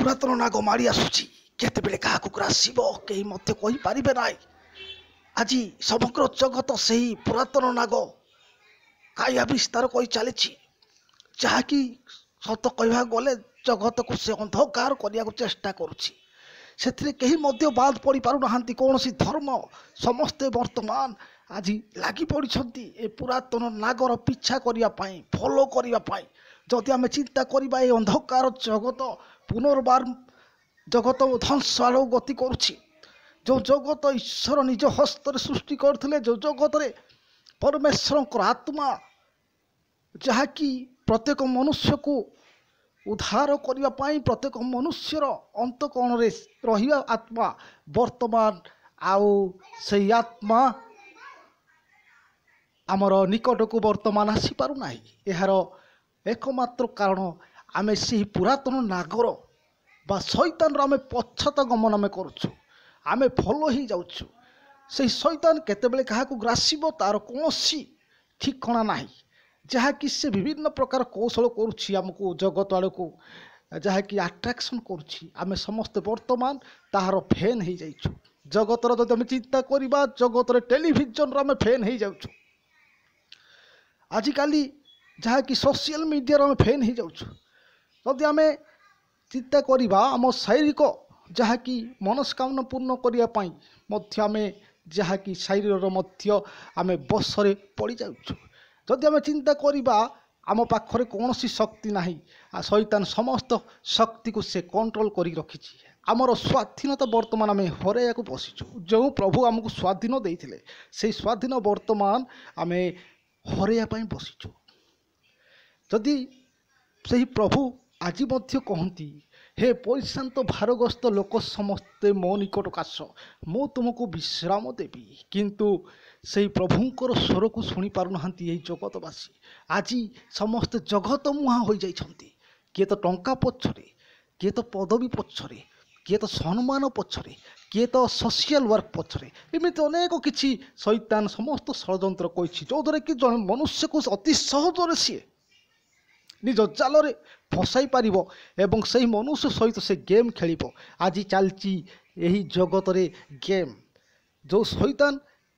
ପୁରାତନ ନାଗ ମାଡ଼ି ଆସୁଛି, କେତେବେଳେ କାହାକୁ ଗ୍ରାସିବ କେହି ମଧ୍ୟ କହିପାରିବେ ନାହିଁ। ଆଜି ସମଗ୍ର ଜଗତ ସେହି ପୁରାତନ ନାଗ କାୟା ବିସ୍ତାର କରି ଚାଲିଛି, ଯାହାକି ସତ କହିବାକୁ ଗଲେ ଜଗତକୁ ସେ ଅନ୍ଧକାର କରିବାକୁ ଚେଷ୍ଟା କରୁଛି। ସେଥିରେ କେହି ମଧ୍ୟ ବାଦ ପଡ଼ିପାରୁନାହାନ୍ତି, କୌଣସି ଧର୍ମ। ସମସ୍ତେ ବର୍ତ୍ତମାନ ଆଜି ଲାଗି ପଡ଼ିଛନ୍ତି ଏ ପୁରାତନ ନାଗର ପିଛା କରିବା ପାଇଁ, ଫଲୋ କରିବା ପାଇଁ। ଯଦି ଆମେ ଚିନ୍ତା କରିବା, ଏ ଅନ୍ଧକାର ଜଗତ ପୁନର୍ବାର ଜଗତ ଧ୍ୱଂସ ଆଡ଼କୁ ଗତି କରୁଛି। ଯେଉଁ ଜଗତ ଈଶ୍ୱର ନିଜ ହସ୍ତରେ ସୃଷ୍ଟି କରିଥିଲେ, ଯେଉଁ ଜଗତରେ ପରମେଶ୍ୱରଙ୍କର ଆତ୍ମା ଯାହାକି ପ୍ରତ୍ୟେକ ମନୁଷ୍ୟକୁ ଉଦ୍ଧାର କରିବା ପାଇଁ ପ୍ରତ୍ୟେକ ମନୁଷ୍ୟର ଅନ୍ତଃକରଣରେ ରହିବା ଆତ୍ମା, ବର୍ତ୍ତମାନ ଆଉ ସେଇ ଆତ୍ମା ଆମର ନିକଟକୁ ବର୍ତ୍ତମାନ ଆସିପାରୁନାହିଁ। ଏହାର ଏକମାତ୍ର କାରଣ, ଆମେ ସେହି ପୁରାତନ ନାଗର ବା ଶୈତାନର ଆମେ ପଶ୍ଚାତ ଗମନ ଆମେ କରୁଛୁ, ଆମେ ଫଲୋ ହେଇଯାଉଛୁ। ସେହି ଶୈତାନ କେତେବେଳେ କାହାକୁ ଗ୍ରାସିବ ତା'ର କୌଣସି ଠିକଣା ନାହିଁ, ଯାହାକି ସେ ବିଭିନ୍ନ ପ୍ରକାର କୌଶଳ କରୁଛି ଆମକୁ ଜଗତ ଆଡ଼କୁ ଯାହାକି ଆଟ୍ରାକ୍ସନ୍ କରୁଛି। ଆମେ ସମସ୍ତେ ବର୍ତ୍ତମାନ ତାହାର ଫ୍ୟାନ୍ ହେଇଯାଇଛୁ ଜଗତର। ଯଦି ଆମେ ଚିନ୍ତା କରିବା, ଜଗତରେ ଟେଲିଭିଜନର ଆମେ ଫ୍ୟାନ୍ ହେଇଯାଉଛୁ ଆଜିକାଲି, ଯାହାକି ସୋସିଆଲ ମିଡ଼ିଆର ଆମେ ଫ୍ୟାନ୍ ହେଇଯାଉଛୁ। ଯଦି ଆମେ ଚିନ୍ତା କରିବା, ଆମ ଶାରୀରିକ ଯାହାକି ମନସ୍କାମନା ପୂର୍ଣ୍ଣ କରିବା ପାଇଁ ମଧ୍ୟ ଆମେ ଯାହାକି ଶରୀରର ମଧ୍ୟ ଆମେ ବଶରେ ପଡ଼ିଯାଉଛୁ। ଯଦି ଆମେ ଚିନ୍ତା କରିବା, ଆମ ପାଖରେ କୌଣସି ଶକ୍ତି ନାହିଁ। ଆଉ ଶୈତାନ ସମସ୍ତ ଶକ୍ତିକୁ ସେ କଣ୍ଟ୍ରୋଲ କରିକି ରଖିଛି। ଆମର ସ୍ୱାଧୀନତା ବର୍ତ୍ତମାନ ଆମେ ହରାଇବାକୁ ବସିଛୁ। ଯେଉଁ ପ୍ରଭୁ ଆମକୁ ସ୍ୱାଧୀନ ଦେଇଥିଲେ, ସେଇ ସ୍ୱାଧୀନ ବର୍ତ୍ତମାନ ଆମେ ହରାଇବା ପାଇଁ ବସିଛୁ। ଯଦି ସେହି ପ୍ରଭୁ ଆଜି ମଧ୍ୟ କହନ୍ତି, ହେ ପରିଶ୍ରାନ୍ତ ଭାରଗ୍ରସ୍ତ ଲୋକ ସମସ୍ତେ ମୋ ନିକଟକୁ ଆସ, ମୁଁ ତୁମକୁ ବିଶ୍ରାମ ଦେବି, କିନ୍ତୁ ସେଇ ପ୍ରଭୁଙ୍କର ସ୍ୱରକୁ ଶୁଣିପାରୁନାହାନ୍ତି ଏହି ଜଗତବାସୀ। ଆଜି ସମସ୍ତେ ଜଗତ ମୁହାଁ ହୋଇଯାଇଛନ୍ତି। କିଏ ତ ଟଙ୍କା ପଛରେ, କିଏ ତ ପଦବୀ ପଛରେ, କିଏ ତ ସମ୍ମାନ ପଛରେ, କିଏ ତ ସୋସିଆଲ ୱାର୍କ ପଛରେ, ଏମିତି ଅନେକ କିଛି ଶୈତାନ ସମସ୍ତ ଷଡ଼ଯନ୍ତ୍ର କହିଛି, ଯେଉଁଦ୍ୱାରା କି ଜଣେ ମନୁଷ୍ୟକୁ ଅତି ସହଜରେ ସିଏ ନିଜ ଜାଲରେ ଫସାଇ ପାରିବ ଏବଂ ସେହି ମନୁଷ୍ୟ ସହିତ ସେ ଗେମ୍ ଖେଳିବ। ଆଜି ଚାଲିଛି ଏହି ଜଗତରେ ଗେମ୍। ଯେଉଁ ଶୈତାନ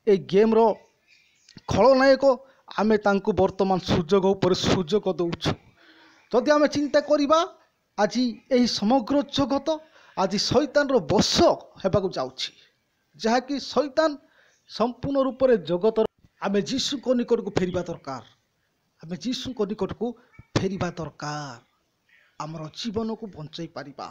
ଏ ଗେମ୍ର ଖଳନାୟକ, ଆମେ ତାଙ୍କୁ ବର୍ତ୍ତମାନ ସୁଯୋଗ ଉପରେ ସୁଯୋଗ ଦେଉଛୁ। ଯଦି ଆମେ ଚିନ୍ତା କରିବା, ଆଜି ଏହି ସମଗ୍ର ଜଗତ ଆଜି ଶୈତାନର ବଶ ହେବାକୁ ଯାଉଛି, ଯାହାକି ଶୈତାନ ସମ୍ପୂର୍ଣ୍ଣ ରୂପରେ ଜଗତର। ଆମେ ଯୀଶୁଙ୍କ ନିକଟକୁ ଫେରିବା ଦରକାର। ଆମେ ଯୀଶୁଙ୍କ ନିକଟକୁ ଫେରିବା ଦରକାର, ଆମର ଜୀବନକୁ ବଞ୍ଚାଇ ପାରିବା।